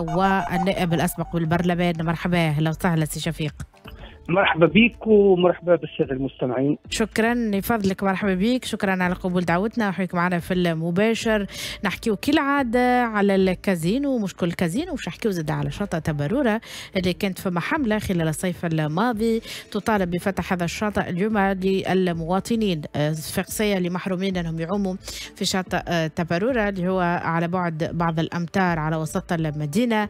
الجهة والنائب الأسبق بالبرلمان. مرحبا، أهلا وسهلا سي شفيق. مرحبا بك ومرحبا بالسادة المستمعين. شكرا لفضلك، مرحبا بك، شكرا على قبول دعوتنا وحيك معنا في المباشر. نحكيو كالعادة على الكازينو، مشكل الكازينو، وش نحكيو زاد على شاطئ تبرورة اللي كانت فما حملة خلال الصيف الماضي تطالب بفتح هذا الشاطئ اليوم للمواطنين الصفاقسية اللي محرومين انهم يعوموا في شاطئ تبرورة اللي هو على بعد بعض الأمتار على وسط المدينة.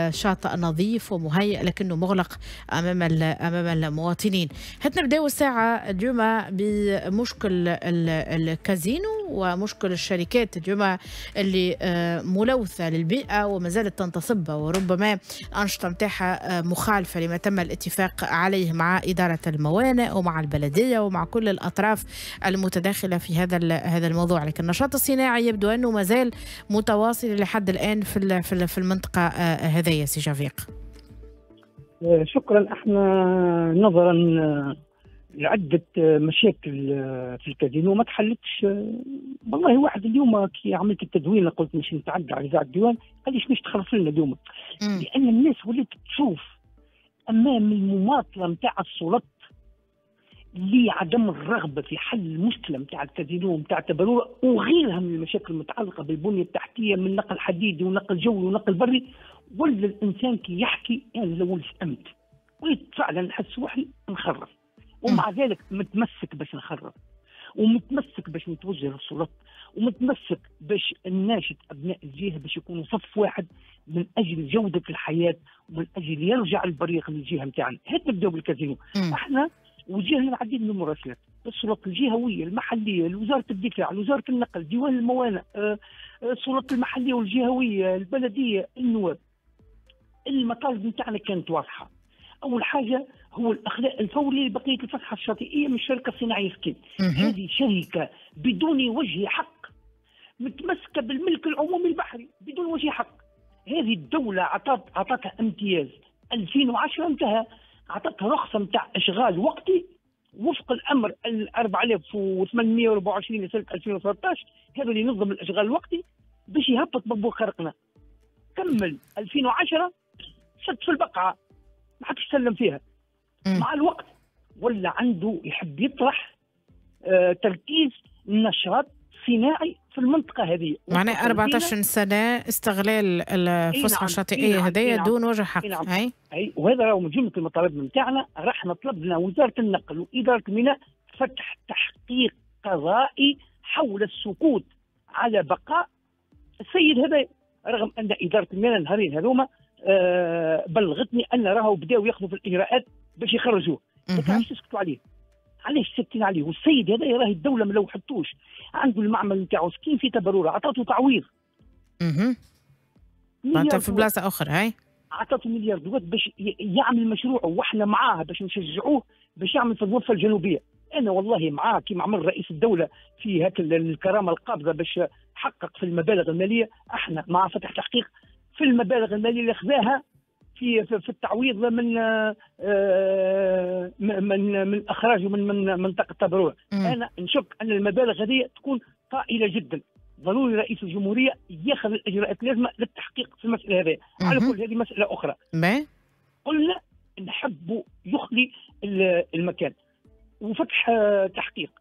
شاطئ نظيف ومهيئ لكنه مغلق أمام المواطنين. هات نبداو الساعة اليوم بمشكل الكازينو ومشكل الشركات اليوم اللي ملوثة للبيئة وما زالت تنتصب، وربما الأنشطة نتاعها مخالفة لما تم الاتفاق عليه مع إدارة الموانئ ومع البلدية ومع كل الأطراف المتداخلة في هذا الموضوع. لكن النشاط الصناعي يبدو أنه ما زال متواصل لحد الآن في المنطقة هذيا. سي شفيق. شكرا. احنا نظرا لعدة مشاكل في الكازينو ما تحلتش. والله واحد اليوم كي عملت التدوين قلت مش نتعدى على اذاعة الديوان، قال لي مش تخلص لنا اليوم، لان الناس ولات تشوف امام المماطله نتاع السلطات لعدم الرغبة في حل المشكلة نتاع الكازينو نتاع تبرورة وغيرها من المشاكل المتعلقة بالبنيه التحتية من نقل حديدي ونقل جوي ونقل بري. ولا الانسان كي يحكي يعني لو فهمت وليت فعلا نحس روحي نخرف، ومع ذلك متمسك باش نخرف، ومتمسك باش نتوجه للسلطات، ومتمسك باش نناشد ابناء الجهة باش يكونوا صف واحد من اجل جوده الحياة ومن اجل يرجع البريق للجهة نتاعنا. هات نبداو بالكازينو. احنا وجهنا العديد من المراسلات السلطات الجهوية المحلية، لوزارة الدفاع، لوزارة النقل، ديوان الموانئ، السلطات المحلية والجهويه، البلدية، النواب. المطالب نتاعنا كانت واضحة. اول حاجة هو الاخلاء الفوري لبقية الفتحة الشاطئيه من الشركة الصناعية سكين. هذه شركة بدون وجه حق متمسكة بالملك العمومي البحري بدون وجه حق. هذه الدولة عطتها امتياز 2010 انتهى، عطتها رخصه نتاع اشغال وقتي وفق الامر 4824 لسنه 2013، هذا اللي ينظم الاشغال الوقتي باش يهبط بابور خرقنا. كمل 2010 شد في البقعة ما حدش سلم فيها. مع الوقت ولا عنده يحب يطرح تركيز نشاط صناعي في المنطقة هذه. معناها 14 سنة استغلال الفسحة الشاطئيه هذيا دون وجه حق. نعم. اي وهذا راهو من جملة المطالب نتاعنا. راح طلبنا وزارة النقل واداره الميناء فتح تحقيق قضائي حول السكوت على بقاء السيد هذا، رغم ان ادارة الميناء النهارين هذوما بلغتني ان راهو بداوا ياخذوا في الاجراءات باش يخرجوه. لكن علاش تسكتوا عليه؟ علاش ساكتين عليه؟ والسيد هذا راهي الدولة ما لوحتوش، عنده المعمل نتاعو سكين في تبروره، عطاته تعويض. معناتها في بلاصة اخرى هاي عطاته مليار دولار باش يعمل مشروعه، واحنا معاه باش نشجعوه باش يعمل في الضفة الجنوبية. انا والله معاه كيما عمل رئيس الدولة في هاك الكرامة القابضة باش حقق في المبالغ المالية، احنا مع فتح تحقيق في المبالغ المالية اللي خذاها في التعويض من من من اخراجه من منطقة تبروه. انا نشك ان المبالغ هذه تكون طائلة جدا. ضروري رئيس الجمهورية ياخذ الاجراءات اللازمة للتحقيق في المسالة هذه. على كل هذه مسالة اخرى. قلنا نحب يخلي المكان وفتح تحقيق.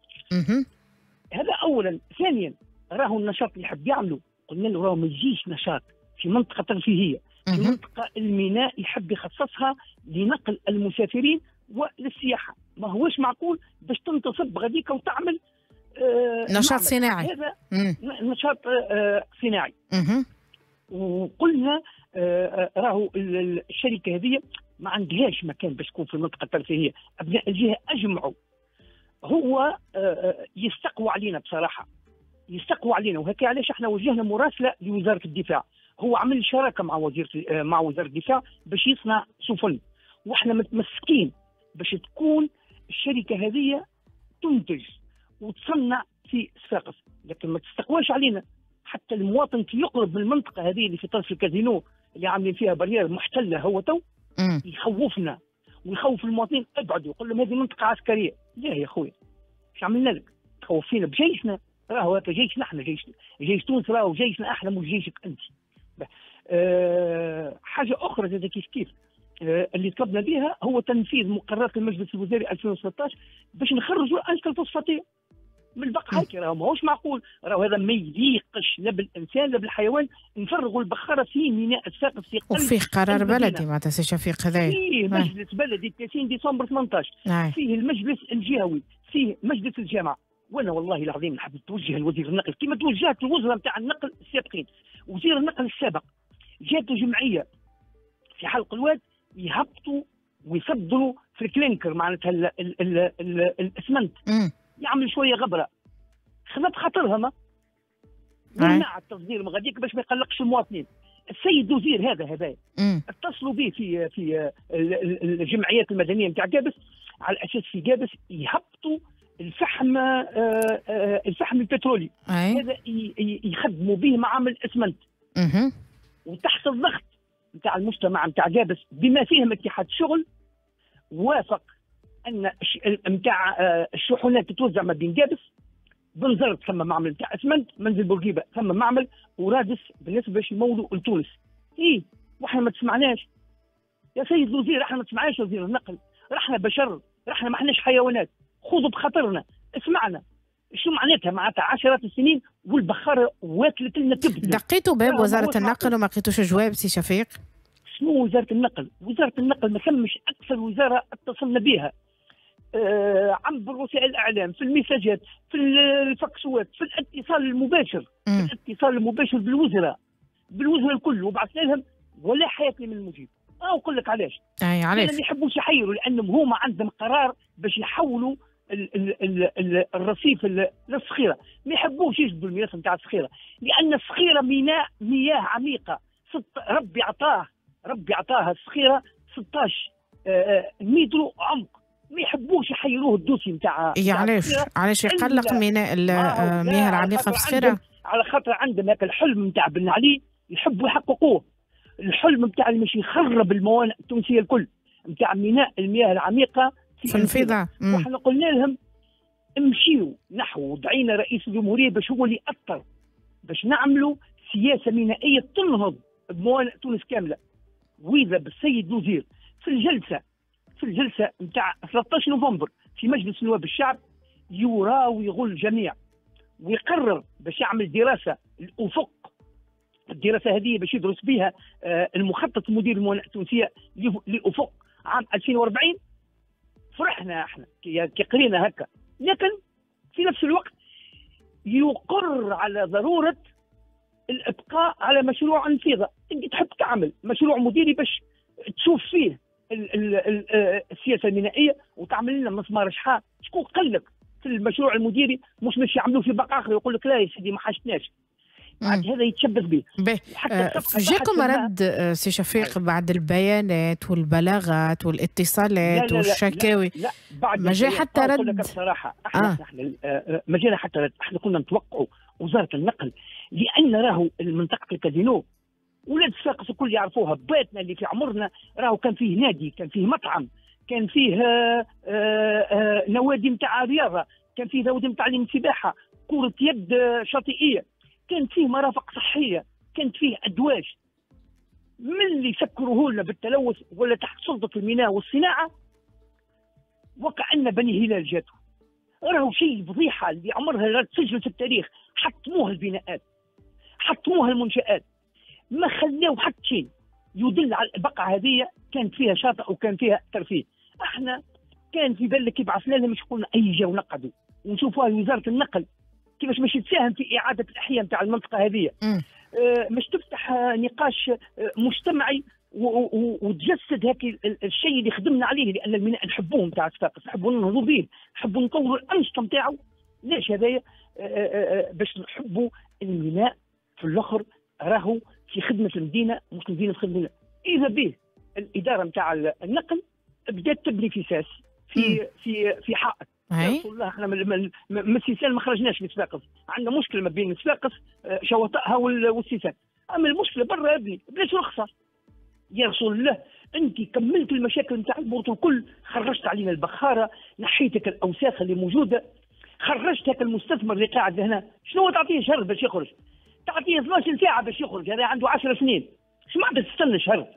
هذا اولا. ثانيا راهو النشاط اللي يحب يعمله قلنا له راهو ما يجيش نشاط في منطقة ترفيهية، في منطقة الميناء يحب يخصصها لنقل المسافرين وللسياحه. ما هوش معقول باش تنتصب غاديك وتعمل نشاط صناعي. هذا نشاط صناعي. وقلنا راهو الشركة هذه ما عندهاش مكان باش تكون في المنطقة الترفيهية. ابناء الجهة اجمعوا، هو يستقوى علينا بصراحة، يستقوى علينا. وهكا علاش احنا وجهنا مراسله لوزارة الدفاع. هو عمل شراكة مع وزارة الدفاع باش يصنع سفن، واحنا متمسكين باش تكون الشركة هذه تنتج وتصنع في صفاقس، لكن ما تستقواش علينا. حتى المواطن كي يقرب من المنطقة هذه اللي في طرف الكازينو اللي عاملين فيها barrière محتلة هو تو يخوفنا ويخوف المواطنين، ابعدوا، يقول لهم هذه منطقة عسكرية. لا يا خويا، ايش عملنا لك؟ تخوف فينا بجيشنا، راهو هذا جيشنا احنا، جيش تونس راهو جيشنا احنا مش جيشك انت. حاجة اخرى زاد كيف كيف اللي طلبنا بها هو تنفيذ مقررات المجلس الوزاري 2016 باش نخرجوا الانشطة الفوسفاتيه من البقعة هيك. راهو ماهوش معقول، راهو هذا ما يليقش لا بالانسان لا بالحيوان، نفرغوا البخاره في ميناء صفاقس في قلب، وفيه قرار بلدي معناتها سي شفيق هذايا، فيه مجلس بلدي 30 ديسمبر 18، فيه المجلس الجهوي، فيه مجلس الجامعة. وانا والله العظيم نحب نتوجه لوزير النقل كما توجهت الوزراء نتاع النقل السابقين. وزير النقل السابق جاته جمعية في حلق الواد يهبطوا ويصدروا في الكلينكر معناتها الاسمنت، يعمل شوية غبرة، خذت خاطرها ما منع التصدير من غاديك باش ما يقلقش المواطنين. السيد وزير هذا اتصلوا به في الجمعيات المدنية نتاع قابس على اساس في قابس يهبطوا الفحم، الفحم البترولي هذا يخدموا به معامل الاسمنت. وتحت الضغط نتاع المجتمع نتاع قابس بما فيهم اتحاد الشغل وافق ان نتاع الشحنات تتوزع ما بين قابس بنزرت ثم معمل نتاع اسمنت، منزل بورقيبة ثم معمل، ورادس بالنسبة باش يمولوا لتونس. ايه واحنا ما تسمعناش يا سيد الوزير، احنا ما تسمعناش وزير النقل، رحنا بشر، رحنا ما احناش حيوانات، خذوا بخاطرنا، اسمعنا. شو معناتها؟ معناتها عشرات السنين والبخاره واكلت لنا كبدنا. دقيتوا باب وزارة النقل وما لقيتوش جواب سي شفيق؟ شنو وزارة النقل؟ وزارة النقل ما ثمش اكثر وزارة اتصلنا بها عبر وسائل الاعلام، في المساجات، في الفاكسوات، في الاتصال المباشر، في الاتصال المباشر بالوزراء، بالوزراء الكل، وبعثنا لهم ولا حياة من المجيب. نقول لك علاش؟ اي علاش؟ ما يحبوش يحيروا لانهم هما عندهم قرار باش يحولوا الرصيف للصخيره، ما يحبوش يجبدوا المياه نتاع الصخيره، لان الصخيره ميناء مياه عميقة، ربي عطاها الصخيره 16 متر عمق، ما يحبوش يحيروه ال dossier نتاع. علاش؟ علاش يقلق ميناء المياه العميقة في الصخيره؟ على خاطر عندهم هاك الحلم نتاع بن علي يحبوا يحققوه، الحلم نتاع اللي مش يخرب الموانئ التونسية الكل نتاع ميناء المياه العميقة في النفيضه. وحنا قلنا لهم امشيوا نحو، دعينا رئيس الجمهورية باش هو اللي يأثر باش نعملوا سياسة مينائيه تنهض بموانئ تونس كاملة. واذا بالسيد الوزير في الجلسة نتاع 13 نوفمبر في مجلس نواب الشعب يراوغ الجميع ويقرر باش يعمل دراسة الافق، الدراسة هذه باش يدرس بها المخطط المدير الموانئ التونسية لافق عام 2040. فرحنا احنا كي قرينا هكا، لكن في نفس الوقت يقر على ضرورة الابقاء على مشروع النفيضه. انت تحب تعمل مشروع مديري باش تشوف فيه السياسة المينائيه وتعمل لنا مسمار شحال. شكون قال لك في المشروع المديري مش باش يعملوه في بقعة اخرى يقول لك لا يا سيدي ما حاجتناش؟ بعد هذا يتشبث به. جاكم رد سي شفيق بعد البيانات والبلاغات والاتصالات والشكاوي؟ لا بعد ما جاء حتى رد. بصراحة احنا ما جانا حتى رد. احنا كنا نتوقعوا وزارة النقل، لان راهو المنطقة الكازينو ولاد صفاقس الكل يعرفوها، باتنا اللي في عمرنا راهو كان فيه نادي، كان فيه مطعم، كان فيه نوادي نتاع رياضة، كان فيه نوادي نتاع السباحة، كره يد شاطئيه، كانت فيه مرافق صحية، كانت فيه ادواج. من اللي سكروه لنا بالتلوث ولا تحت سلطة الميناء والصناعة وكأن بني هلال جاتو. راهو شيء فضيحة اللي عمرها لا تسجل في التاريخ. حطموها البناءات، حطموها المنشآت، ما خلاو حتى شيء يدل على البقعة هذه كانت فيها شاطئ وكان فيها ترفيه. احنا كان في بالك يبعثنا لهم مش قلنا اي جاو نقعدوا ونشوفوها وزارة النقل كيفاش باش تساهم في اعاده الاحياء نتاع المنطقة هذه، مش تفتح نقاش مجتمعي وتجسد هاك الشيء اللي خدمنا عليه، لان الميناء نحبوه نتاع صفاقس، نحبوا ننهضوا به، نحبوا نطوروا الانشطة نتاعو. ليش هذايا؟ باش نحبوا الميناء في الاخر راهو في خدمة المدينة مش المدينة في خدمة الميناء. اذا به الادارة نتاع النقل بدات تبني في ساس في في في حائط. يا رسول الله احنا من السيسان ما خرجناش من صفاقس، عندنا مشكلة ما بين صفاقس شواطئها والسيسان، اما المشكلة برا ابني بلاش رخصه. يا رسول الله انت كملت المشاكل نتاع البورتو الكل، خرجت علينا البخاره، نحيتك الاوساخ اللي موجودة، خرجت هاك المستثمر اللي قاعد هنا، شنو تعطيه شهر باش يخرج؟ تعطيه 12 ساعة باش يخرج، هذا عنده 10 سنين، شو معناتها تستنى شهر؟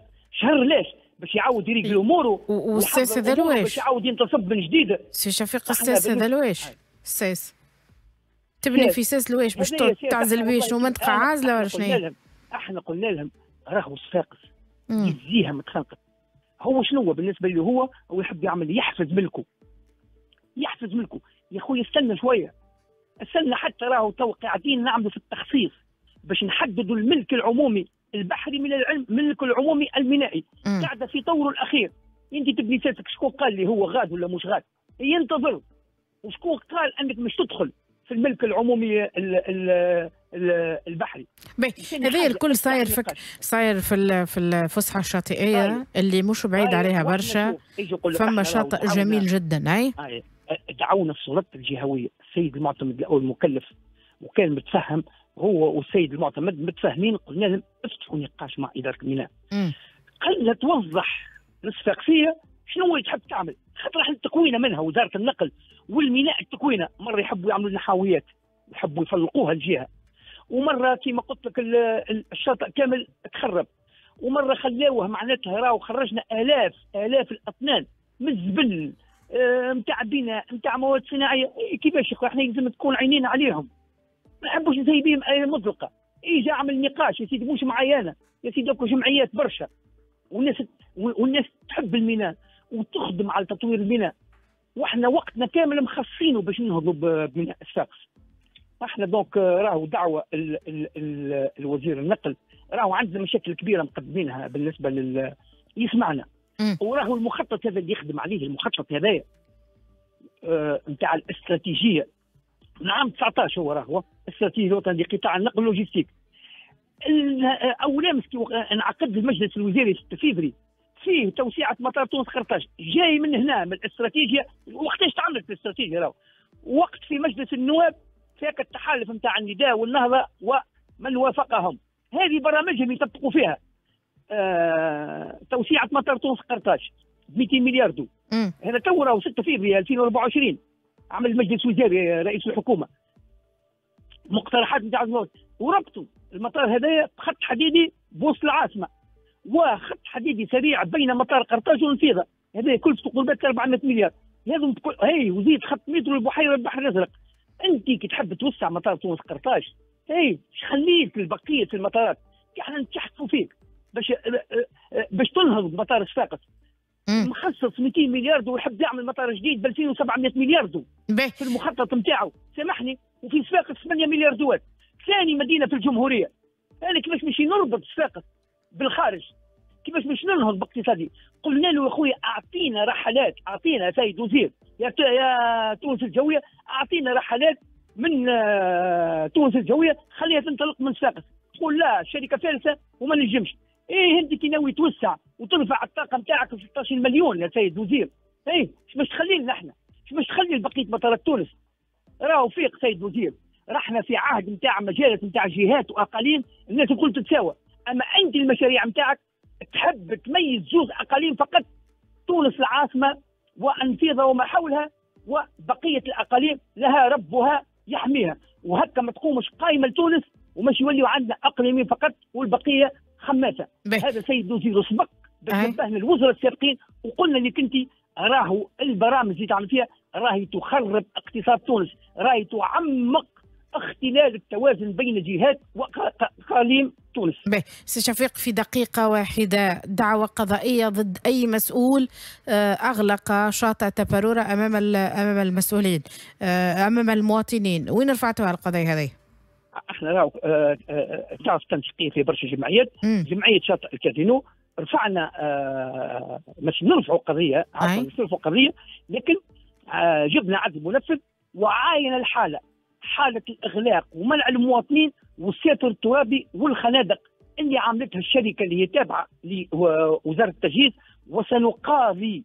شهر ليش؟ باش يعاود يريقل اموره. والساس هذا لواش؟ باش يعاود ينتصب من جديد. سي شفيق، الساس هذا لواش؟ الساس تبني في ساس لواش باش تعزل بيه؟ شنو، منطقة عازله ولا شنو؟ احنا قلنا لهم راهو صفاقس يزيها متخنقت. هو شنو بالنسبة له؟ هو يحب يعمل يحفز ملكه، يحفز ملكه. يا خويا استنى شوية، استنى حتى راهو تو قاعدين نعملوا في التخصيص باش نحددوا الملك العمومي البحري من الملك العمومي المينائي. قاعدة في طوره الاخير. انت تبني ساسك، شكون قال لي هو غاد ولا مش غاد؟ ينتظر. وشكون قال انك مش تدخل في الملك العمومي البحري؟ هذا الكل صاير صاير في الفسحة الشاطئيه اللي مش بعيد عليها برشا. فما شاطئ جميل جدا. اي دعونا السلطات الجهوية، السيد المعتمد الاول مكلف وكان متفهم، هو والسيد المعتمد متفاهمين. قلنا لهم افتحوا نقاش مع ادارة الميناء، قال توضح للصفاقسيه شنو اللي تحب تعمل، خاطر احنا التكوينه منها وزارة النقل والميناء التكوينه، مرة يحبوا يعملوا لنا حاويات يحبوا يفلقوها الجهة، ومرة كما قلت لك الشاطئ كامل تخرب، ومرة خلاوه معناتها راهو خرجنا الاف الاف الاطنان من الزبل نتاع بناء نتاع مواد صناعية. كيفاش يا خويا؟ احنا لازم تكون عينينا عليهم، ما نحبوش نسيبيهم ايه مطلقه. اجا عمل نقاش يا سيدي، مش معايا انا يا سيدي، جمعيات برشا والناس تحب الميناء وتخدم على تطوير الميناء، واحنا وقتنا كامل مخصصينه باش ننهضوا بميناء صفاقس. احنا donc راهو دعوه ال ال ال الوزير النقل، راهو عندنا مشاكل كبيرة مقدمينها بالنسبة لل يسمعنا. وراهو المخطط هذا اللي يخدم عليه، المخطط هذايا نتاع الاستراتيجية من عام 19، هو راهو استراتيجية الوطنية لقطاع النقل واللوجستيك. اول امس انعقد المجلس الوزاري 6 فيفري فيه توسعه مطار تونس قرطاج، جاي من هنا من الاستراتيجية. وقتاش تعملت الاستراتيجية؟ راهو وقت في مجلس النواب فيك التحالف نتاع النداء والنهضه ومن وافقهم، هذه برامجهم يطبقوا فيها. توسعه مطار تونس قرطاج 200 مليار دو. هذا تو راهو 6 فيفري 2024 عمل مجلس وزاري رئيس الحكومة مقترحات نتاع وربطوا المطار هذايا بخط حديدي بوسط العاصمة وخط حديدي سريع بين مطار قرطاج والنفيضه، هذا كلفته قرابة 400 مليار. لازم هي وزيد خط مترو البحيرة البحر الازرق. انت كي تحب توسع مطار تونس قرطاج، هي خليت لبقية المطارات، احنا نتحكوا فيك باش تنهض مطار صفاقس. مخصص 200 مليار ويحب يعمل مطار جديد ب 2700 مليار في المخطط نتاعو، سامحني. وفي صفاقس 8 مليار دوات، ثاني مدينة في الجمهورية. انا كيفاش مش نربط صفاقس بالخارج؟ كيفاش مش ننهض باقتصادي؟ قلنا له يا خويا اعطينا رحلات، اعطينا سيد وزير يا تونس الجوية، اعطينا رحلات من تونس الجوية خليها تنطلق من صفاقس. تقول لا الشركة فالسه وما نجمش. ايه انت كي ناوي توسع وترفع الطاقة نتاعك ل 16 مليون يا سيد وزير، ايه اش باش تخلي لنا احنا؟ اش باش تخلي لبقية مطارات تونس؟ راهو فيق سيد وزير، رحنا في عهد نتاع مجالس نتاع جهات واقاليم الناس الكل تتساوى، اما انت المشاريع نتاعك تحب تميز جزء اقاليم فقط، تونس العاصمة والنفيضه وما حولها، وبقية الاقاليم لها ربها يحميها، وهكا ما تقومش قايمة لتونس ومش يوليوا عندنا اقليمين فقط والبقية خماسه. هذا سيد وزير سبق باش نبهنا الوزراء السابقين وقلنا اللي كنتي راهو البرامج اللي تعمل فيها راهي تخرب اقتصاد تونس، راهي تعمق اختلال التوازن بين جهات واقاليم تونس. سي شفيق، في دقيقة واحدة، دعوة قضائية ضد أي مسؤول أغلق شاطئ تبارورة أمام المسؤولين، أمام المواطنين، وين رفعتوها القضية هذه؟ احنا راهو تعرف تنسيقية في برشا جمعيات، جمعية شاطئ الكازينو رفعنا مش نرفعوا قضية، عفوا مش نرفعوا قضية، لكن جبنا عدل منفذ وعاين الحالة، حالة الإغلاق ومنع المواطنين والساتر الترابي والخنادق اللي عملتها الشركة اللي هي تابعة لوزارة التجهيز، وسنقاضي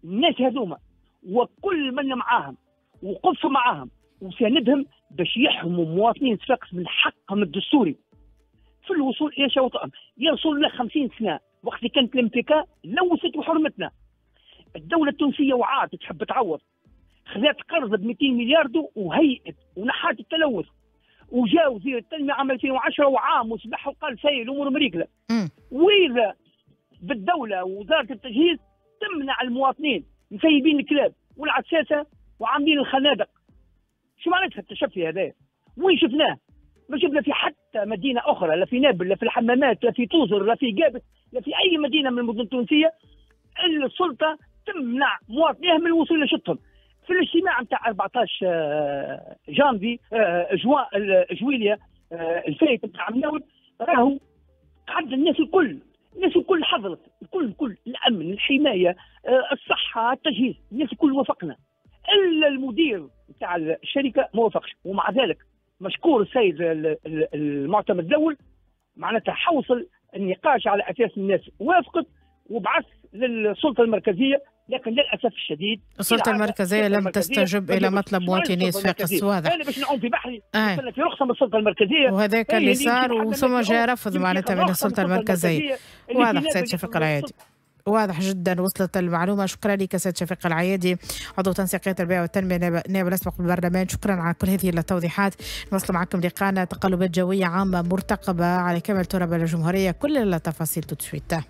الناس هذوما وكل من معاهم وقف معاهم وساندهم باش يحموا مواطنين صفاقس من حقهم الدستوري في الوصول إلى شواطئهم. يا رسول الله 50 سنة وقت اللي كانت الامتكاء لوثت وحرمتنا. الدولة التونسية وعات تحب تعوض، خذات قرض ب 200 مليار وهيئت ونحات التلوث، وجاء وزير التنمية عام 2010 وعام وسبح وقال سايل الامور مريقله. واذا بالدولة ووزارة التجهيز تمنع المواطنين، مسيبين الكلاب والعساسه وعاملين الخنادق. شو معناتها التشفي هذا؟ وين شفناه؟ ما شفنا في حتى مدينة اخرى، لا في نابل، لا في الحمامات، لا في توزر، لا في قابس، لا في اي مدينة من المدن التونسية السلطة تمنع مواطنيها من الوصول لشطهم. في الاجتماع نتاع 14 جانفي جوان جويليا الفايت نتاع مناول، راهو قعد الناس الكل، الناس الكل حضرت، الكل الكل، الامن، الحماية، الصحة، التجهيز، الناس الكل وافقنا، الا المدير نتاع الشركة ما وافقش. ومع ذلك مشكور السيد المعتمد الاول، معناتها حوصل النقاش على اساس الناس وافقت وبعث للسلطة المركزيه، لكن للاسف الشديد السلطة المركزية لم تستجب الى مطلب مواطني صفاقس. واضح. انا باش نعوم في بحري في رخصه من السلطة المركزية، وهذاك اللي صار، وثم جاء رفض معناتها من السلطة المركزية. واضح سيد شفيق العيادي، واضح جدا، وصلت المعلومة. شكرا لك سيد شفيق العيادي، عضو تنسيقية البيئة والتنمية، نائب الأسبق بالبرلمان. شكرا على كل هذه التوضيحات. نواصل معكم لقاءنا. تقلبات جوية عامة مرتقبة على كامل تراب الجمهورية، كل التفاصيل tout de suite.